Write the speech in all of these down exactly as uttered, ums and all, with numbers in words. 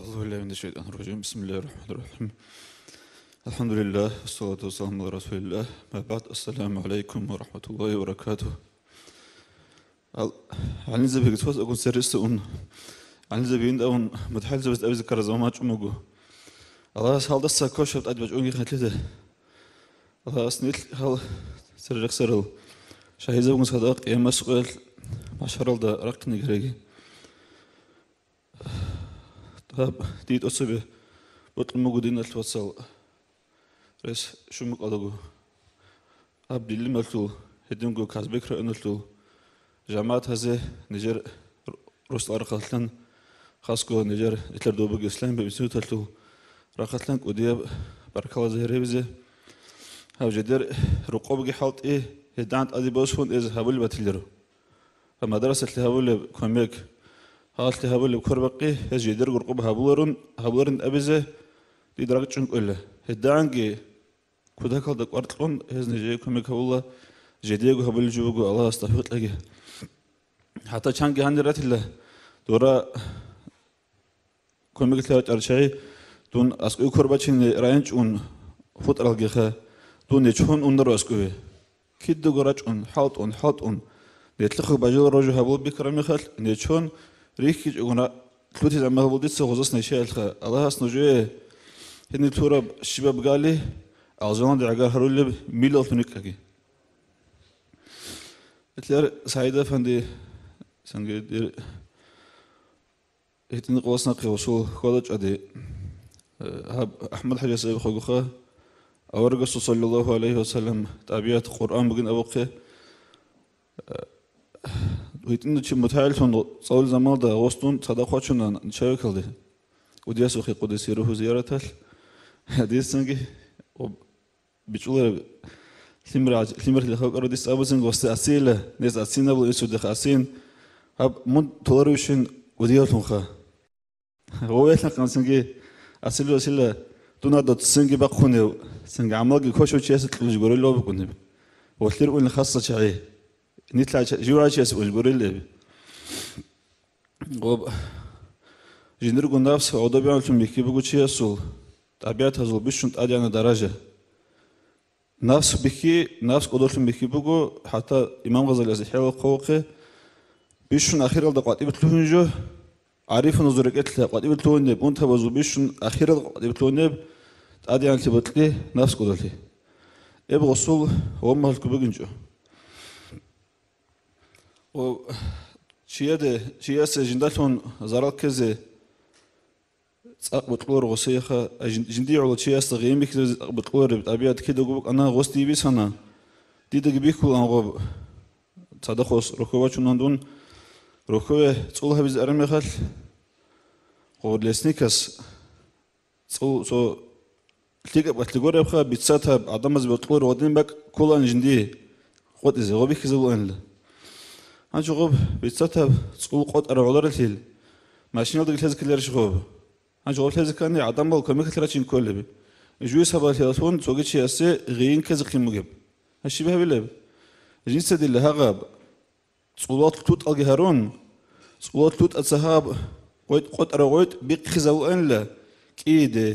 أعوذ بالله من الشيطان الرجيم. بسم الله الرحمن الرحيم. الحمد لله، والصلاة والسلام على رسول الله. أما بعد، السلام عليكم ورحمة الله وبركاته. Ал-, гӀалимзабиги цо-цогун сервисда ун, гӀалимзабиин давун, мутагӀилзабаз абизе ккараб заман бачӀун буго. Аллагьас гьалдаса квешаб тӀад бачӀунги хӀаллъизе. Аллагьас нилъ гьал церерехсарал шагьидзабгун цадахъ къиямасеб къоялъ, махӀшаралда рахъине гьареги. Гьаб, дие тӀоцебе бокьун буго, диналъул вацал, рес щун букӀалаго. Гьаб Дилималъул, гьединго Казбек районалъул жамагӀатазе нижер росдал рахъалъан, хасго нижер нилъер добуги Исламияб институталъул рахъалъан кӀудияб баркалла загьир гьабизе. Гьаб жидер рокъобги хӀалтӀи, гьедигӀан тӀаде босун эз гьабулеб батиларо. Ва мадрасалъе гьабулеб кумек, гьалъе гьабулеб квербакъи, гьез жидерго рокъоб гьабуларун, гьабуларин абизе дида ракӀчӀун кӀвела. ГьедигӀанги кутакалда кӀвар кьун, гьез нижее кумек гьабула, жидеего гьабулеб жо буго, Аллагьас тавфикъ кьеги. ХӀатта чанги гьанир ратила, дора кумеклъи гьабичӀарал чагӀи, дун аскӀове квербачине райончӀун хутӀаралгиха, дун нечон унаро аскӀове. Кидаго рачӀун, хӀалтӀун, хӀалтӀун, нилъехъе бажарулеб жо гьабулеб бихьараб мехалъ, нечон рихьичӀогун ра-, лъутизе гӀамал гьабула дица гъозас нечаялъха. Аллагьас нужее гьениб лъураб щибаб гали алжаналде гӀагар гьарулеб миллаллъун рикӀкӀаги. Гьелъ СагӀид-афанди, цинги дир гьитӀинаб къоялъ нахъе гъосул хьвада-чӀвади, э, гьаб АхӀмад-хӀажияс абихъагуха, аварагасул, саллаллагьу гӀалайгьи ва саллам, тӀабигӀат Къуръан бугин абухъе. Э, гьитӀинав чи мутагӀиллъун цӀалулел заманалда гъос дун цадахъ вачуна начальникалде. КӀудиясухъе къудисе рухӀу зияраталъ. Гьадисанги об-, бичӀчӀулареб лъимер-, лъимерлъи халкъ родиса абуцин гъосда асила, нез асинабула исудеха асин. Гьаб мун толаревщин кӀудиявлъунха. Гъовелъа къансинги асилу асила, дун гьадоцинги бахъунев, цинги гӀамалги квешав чиясе кьулищ гурелъул букӀунеб. Волъир уни хасса чагӀи. Нилъа ча-, живгӀав чиясе улищ гурелъул эб. Гъоб, жиндирго нафс гӀодобегӀанлъун бихьи буго чиясул, тӀабигӀатазул бищун тӀадегӀанаб даража. Нафс бихьи, нафс кӀодолъун бихьи буго, хӀатта имам Гъазалияс ИхӀяялъ хъвавухъе, бищун ахиралда къватӀибе лъугьун жо, гӀарифуназул рекӀелъа къватӀибе лъугьунеб, унтабазул бищун ахиралда къватӀибе лъугьунеб, тӀадегӀанлъи бокьи, нафс кӀодолъи. Эб гъосул гъоммалъго бугинчӀо. Ва чияде, чиясе жиндалъун зарал ккезе цӀакъ бокьуларо гъосиеха, а жин-, жиндие гӀоло чиясда гъийин бихьизаризе цӀакъ бокьулареб тӀабигӀат кидаго букӀана, гъос дие бицана, дидаги бихьулаан гъоб. Цадахъ гъос рохьо вачунан дун, рохьове цӀул гьабизе араб мехалъ, гъоб лесникас цӀул цо лъикӀаб къалъи гуребха, бицатаб гӀадамазе бокьуларо гъодин бакӀ кколаан жиндие къотӀизе, гъоб бихьизабулаанила. Гьанже гъоб бицатаб цӀул къотӀарав гӀоларелъул, машиналдаги лъезе ккеларищ гъоб? Гьанже гъоб лъезе ккани, гӀадамал кумекалъе рачин кколеб. Жугьи сабаблъиялъун цоги чиясе гъийин ккезехъин бугеб. Гьа щиб гьабилеб? Жинца дила гьагъаб цӀулалъ лъутӀалги гьарун, цӀулалъ лъутӀаца гьаб къотӀ-, къотӀарав гъотӀ бихъизабуанила, кӀиде,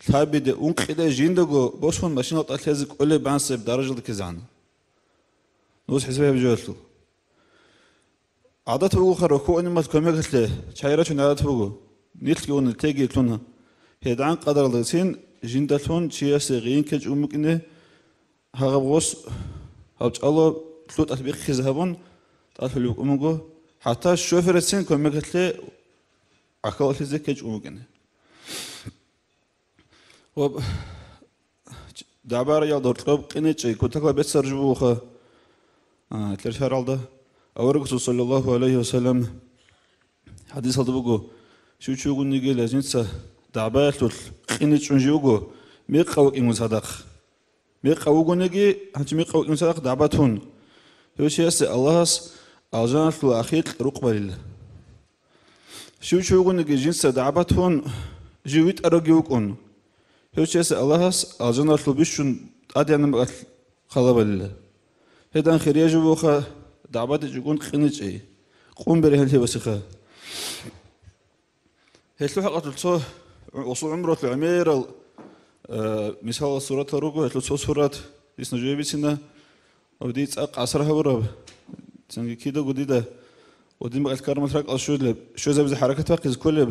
лъабиде, ункъиде жиндаго босун машиналда лъезе кӀолеб бансеб даражалда ккезегӀан. Нуж хӀисаб гьаб жоялъул. ГӀадат бугоха рохьуанимал кумекалъе чагӀи рачун гӀадат буго. Нилъги ун теги лъуна. ГьедигӀан къадаралдацин жиндалъун чиясе гъийин ккечӀун букӀине, гьагъаб гъос гьаб чӀало лъутӀалъ бихъизе гьабун, тӀалъулеб букӀун буго, хӀатта шоферацин кумекалъе гӀахьаллъизе ккечӀун букӀине. Ва дагӀбараялда гьоркьоб къиничӀей кутакла беццараб жо бугоха, а, кьерхӀаралда. Аварагасул, саллаллагьу гӀалайгьи ва саллам, хӀадисалда буго, щив чи вугониги лажинца дагӀбаялъулъ къиничӀун жив вуго, мекъав вукӀингун цадахъ. Мекъав вугониги, гьанчи мекъав вукӀингун цадахъ дагӀба тун. Гьев чиясе Аллагьас алжаналъул ахикь рукъ балила. Щив чи вугониги жинца дагӀба тун, жив витӀаравги вукӀун. Гьев чиясе Аллагьас алжаналъул бищун тӀадегӀанаб бакӀалъ хъалаб балила. Гьедан хирияй жо бугоха дагӀбадичӀогун къиничӀей, къун бергьенлъи босиха. Гьелъул хӀакъалъулъ цо гъосул гӀумрулъ гӀемерал, э, мисалал суратал руго, гьелъул цо сурат дисна жо бицина, ва дие цӀакъ асар гьабураб, цинги кидаго дида ва дин бакӀалъ кармалъ ракӀал щвезаб-, щвезабизе хӀаракат бахъизе кколеб,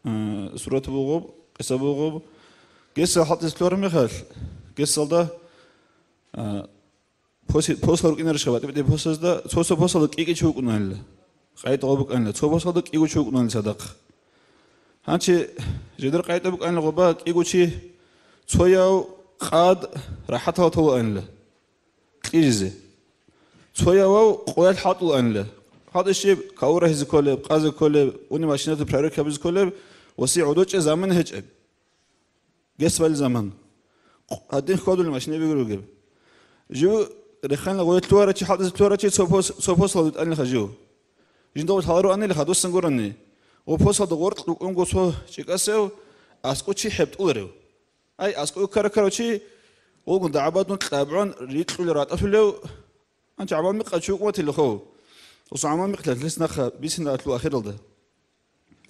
э, сурат бугъуб, къиса бугъуб. Гесал хӀалтӀизе лъугьараб мехалъ, гесалда, э, Поси-, посла рукӀинарищха батӀи-батӀи посазда, цо-цо посалда кӀи-кӀи чи вукӀунаанила. КъайтӀа гъоб букӀанила, цо посалда кӀиго чи вукӀунаанила цадахъ. Гьанчи жидер къайтӀа букӀанила гъоба кӀиго чи, цояв къад рахӀатала толаанила кьижизе. Цоявав къоялъ хӀалтӀулаанила. ХӀалтӀи щиб, каву рагьизе кколеб, къазе кколеб, уни машинатул проверка гьабизе кколеб, ва си гӀодочӀе заман гьечӀеб. Гес бали заман. Гьадин хьвадулел машинабиги ругеб. Жив реханла гъоялъ лъугьарачи, хӀалтӀизе лъугьарачи цо пос-, цо посалда витӀанилха жив. Жинда гъорлъ гьаларуанилха, дусан гурони. Гъо посалда гъоркь рукӀунго цо чӀикӀасев аскӀов чи хӀебтӀуларев. Ай, аскӀов ккара-ккарав чи, вугун дагӀбадун кьабгӀун рикьулев ратӀалъулев, гьанчи гӀамал микъав чи вукӀунатилихъо. Гъосул гӀамал микълъалъ лъес нахъа бицина алъул ахиралда.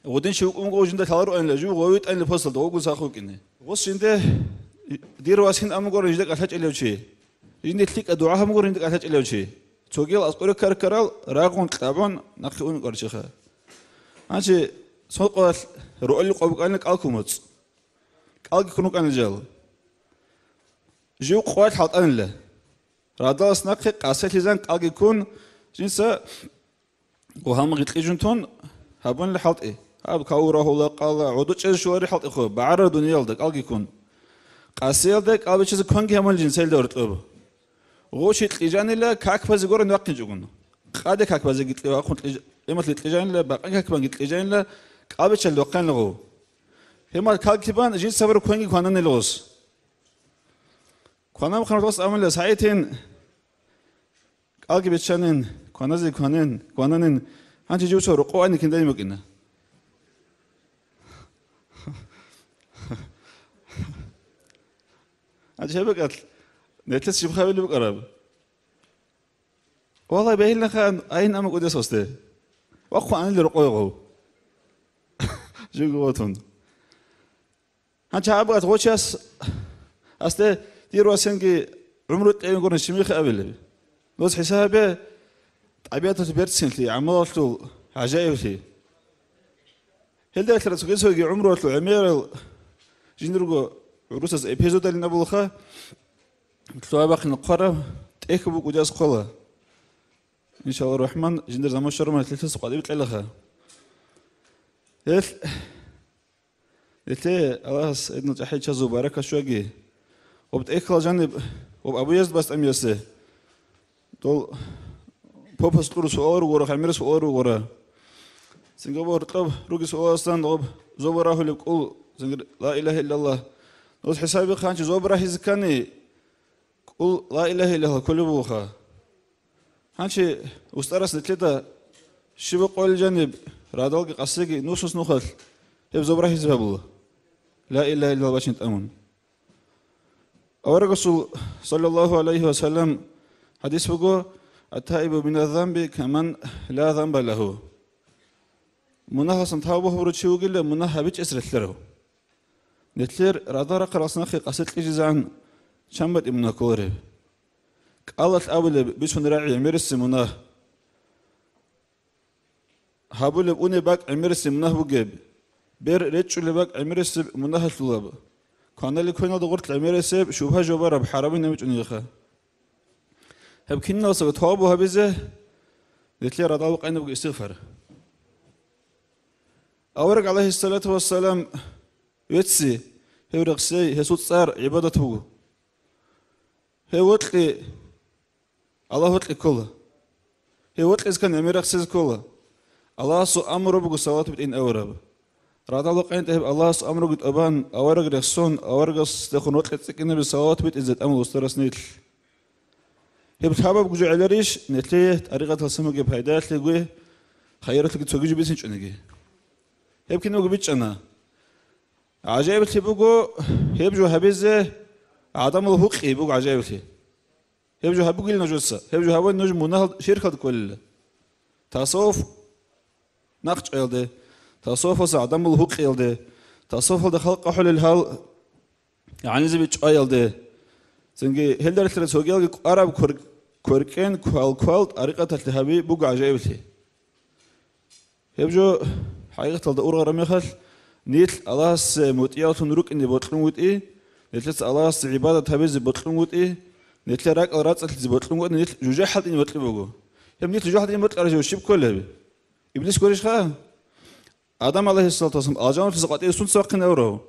Гъудин чи вукӀун вуго жинда лъаларуанила, жив гъовитӀанила посалда, гъогун сах вукӀине. Гъос жинде, дир вас гьин амугорин жинда кӀалъачӀелев чи. Жинде лъикӀа дугӀа гьамугорин жинда кӀалъачӀелев чи. Цогиял аскӀоре ккарккарал рагъун кьабун нахъе ун кӀварчиха. Гьанчи цо къоялъ ругьалил къо букӀанила кӀал ккун моцӀ. КӀалги ккун рукӀанила жал. Жив къоялъ хӀалтӀанила. Радалас нахъе къаселъизан кӀалги ккун, жинца Гъо гьалмагъи кьижун тун гьабунила хӀалтӀи. Гьаб каву рагьула къала, гӀодо чӀезе щолари хӀалтӀихъо, багӀарара дуниялда кӀалги ккун. Къасиялда кӀал бичазе кванги гьабунила жинца гьелда гьоркьоб. Гъо чи кьижанила как базе гурин вахъинчӀогун. Къаде как базеги кье вахъун кьиж-, эмалъи кьижанила, бакъа как банги кьижанила, кӀал бичалде вахъанила гъо. Гьемал как бан жинца гьабураб кванги квананила гъос. Кванаб хъанаталъ амулила сагӀитин, кӀалги биччанин, кваназе кванин, квананин, гьанчи жив цо рокъов айникин дайин букӀина. Гьанчи гьеб бакӀалъ, нилъеца жиб хабилеб букӀараб? Валлагь, бегьилаха айин амукӀудес гъосде. Вахъун аниле рокъове гъов. Живго ватун. Гьанчи гьаб бакӀалъ гъо чияс асде дир васенги гӀумру кьейин гурин щиб михе абилеб? Доз хӀисабе тӀабигӀаталъул берцинлъи, гӀамалалъул гӀажаиблъи. Гьелда гьелъ цоги-цоги гӀумруялъул гӀемерал жиндирго гӀурусаз эпизодалин абулаха, лъугьа-бахъин хъвараб тӀехь букӀудияс хъвала. Иншаллагь рахман, жиндир заман щвараб мехалъ гьелъас къватӀибе кьелаха. Гьелъ Гьелъие Аллагьас гьединал чӀахӀи чӀезаб баракат щвеги. Гъоб тӀехьалда жаниб гъоб Абу Язид БастӀамиясе, дол попас кьураб суал ругора, гӀемераб суал ругора. Цинги гьоркьоб ругеб суаласан гъоб зобал рагьулеб кӀул, цинги ла илагьа иллаллагь. Доз хӀисабихъанчи зобал рагьизе ккани, кӀул ла илагьа иллаллагь кколеб бугоха. Гьанчи устарас нилъеда щибаб къоялъ жаниб радалги къасиги нусус нухалъ гьеб зобал рагьизе гьабула, ла илагьа иллаллагь бачӀин тӀамун. Аварагасул, саллаллагьу гӀалайгьи ва саллам, хӀадис буго: «Ат-таибу миназ-занби каман ла занба лагьу». Мунагьалсан тавба гьабурав чи вугила, мунагь гьабичӀес релълъарав. Нилъер радарахъаралъ нахъе къасе кьижизегӀан чан батӀи мунагь кколареб? КӀалалъ абулеб бицун рагӀи гӀемерисеб мунагь. Гьабулеб унеб бакӀ гӀемерисеб мунагь бугеб. Бер речӀчӀулеб бакӀ гӀемерисеб мунагьалъулаб. Кваналел квеналда гъорлъ гӀемерисеб шубгьа жубараб хӀарамин гьабичӀунеха. Гьеб киналсаго тавбу гьабизе нилъер радал къайнабго истигъфар. Авараг, гӀалайгьиссалату вассалам, вецци, гьев рехсей, гьесул цӀар гӀибадат буго. Гьев вокьи Аллагь вокьи ккола. Гьев вокьизе ккани гӀемер рехсезе ккола. Аллагьасул амру буго салават битӀин авараб. Радал къайнтӀа гьеб Аллагьасул амруги тӀубан, авараг рехсон, аварагасдехун рокьи цӀикӀкӀинаби салават битӀизе тӀамул устарас нилъ. Гьеб лъабаб жо гӀеларищ, нилъее тӀарикъаталъ самуги пайдаялъеги, хайиралъеги цоги жо бицинчӀониги? Гьеб кинабго бичӀчӀана. ГӀажаиблъи буго, гьеб жо гьабизе гӀадамал гьукъи буго гӀажаиблъи. Гьеб жо гьабугил нужеца, гьеб жо гьабун нуж мунагьал ширкалда кколила. Тасаввуф нахъчӀваялде, Тасаввуфалъа гӀадамал гьукъиялде, тасаввуфалда халкъ ахӀулел гьал гӀанизаби чӀваялде, цинги гьелда релълъарал цогиялги кӀвараб квер-, кверкӀен квал-квал тӀарикъаталъе гьаби буго гӀажаиблъи. Гьеб жо хӀакъикъаталда ургъараб мехалъ, нилъ Аллагьасе мутӀигӀлъун рукӀине бокьун вутӀи, нилъеца Аллагьасе гӀибадат гьабизе бокьун вутӀи, нилъер ракӀал рацӀцӀалъизе бокьун вутӀи, нилъ жужахӀалда ине бокьун буго. Гьеб нилъ жужахӀалда ине бокьарав жо щиб кколеб? Иблис гурищха? Адам, гӀалайгьиссалату вассалам, алжаналъуса къватӀиве сунца вахъинавурав?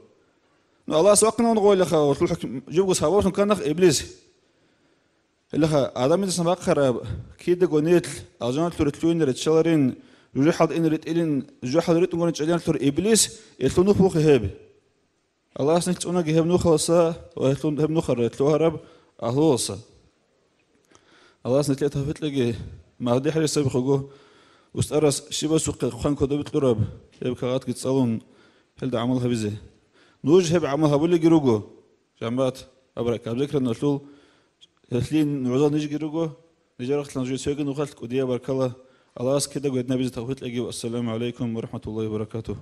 Ну, Аллагьас вахъинавун гъойлаха, гъолъул хӀукм-, жибго сабаблъун канах Иблис. Гьелаха, Адамидасан бахъараб, кидаго нилъ алжаналъуре лъугьине риччаларин, жужахӀалда ине ритӀилин, жужахӀалда ритӀун гурин чӀезаналъур Иблис, гьелъул нух бугеб гьеб. Аллагьас нилъ цӀунаги гьеб нухалъа ва гьелъул гьеб нухалъ лъугьараб агьлуялъа. Аллагьас нилъее тавфикъ кьеги, Магьди хӀалихьабихъего, устарас щибасухъе хъван кодобе кьураб гьеб кагъатги цӀалун, гьелда гӀамал гьабизе. Нуж гьеб гӀамал гьабулеги руго, жамагӀат, абракаб зикран налъул, гьелъин нугӀзал нижги руго, нижер рахъалъан нужее цоги нухалъ кӀудияб баркала. Аллагьас кидаго гьединабизе тавфикъ кьеги. Ассаламу гӀалайкум ва рахӀматуллагьи ва баракатугь.